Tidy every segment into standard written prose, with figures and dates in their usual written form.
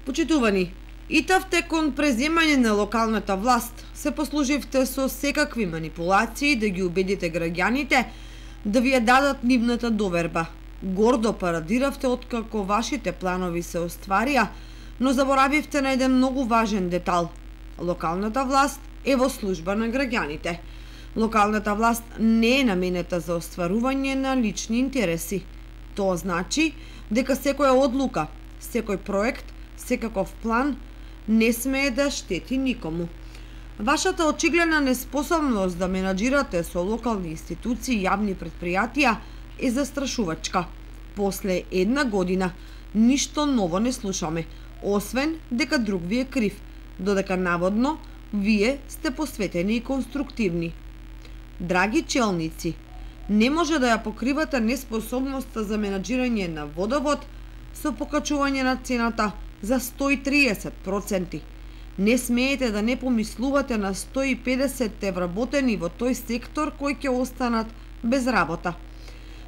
Почитувани, итавте кон преземање на локалната власт, се послуживте со секакви манипулации да ги убедите граѓаните да ви ја дадат нивната доверба. Гордо парадиравте откако вашите планови се остварија, но заборавивте на еден многу важен детал. Локалната власт е во служба на граѓаните. Локалната власт не е наменета за остварување на лични интереси. Тоа значи дека секоја одлука, секој проект, секаков план не смее да штети никому. Вашата очигледна неспособност да менаџирате со локални институции и јавни предпријатија е застрашувачка. После една година ништо ново не слушаме, освен дека друг ви е крив, додека наводно вие сте посветени и конструктивни. Драги челници, не може да ја покривате неспособноста за менаџирање на водовод со покачување на цената за 130%. Не смеете да не помислувате на 150 вработени во тој сектор кои ќе останат без работа.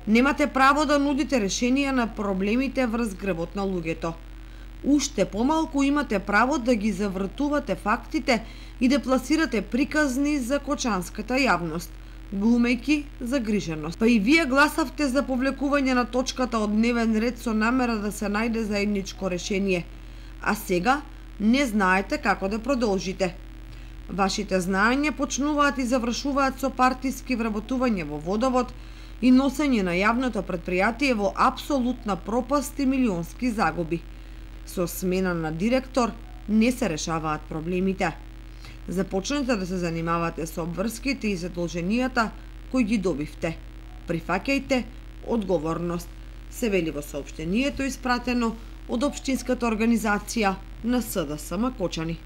Немате право да нудите решенија на проблемите врз грбот на луѓето. Уште помалку имате право да ги завртувате фактите и да пласирате приказни за кочанската јавност, глумејки загриженост. Па и вие гласавте за повлекување на точката од дневен ред со намера да се најде заедничко решение, а сега не знаете како да продолжите. Вашите знаења почнуваат и завршуваат со партиски вработување во водовод и носење на јавното предпријатие во апсолутна пропаст и милионски загуби. Со смена на директор не се решаваат проблемите. Започнете да се занимавате со обврските и задолженијата кои ги добивте. Прифаќајте одговорност, се вели во соопштението испратено од Општинската организација на СДСМ Кочани.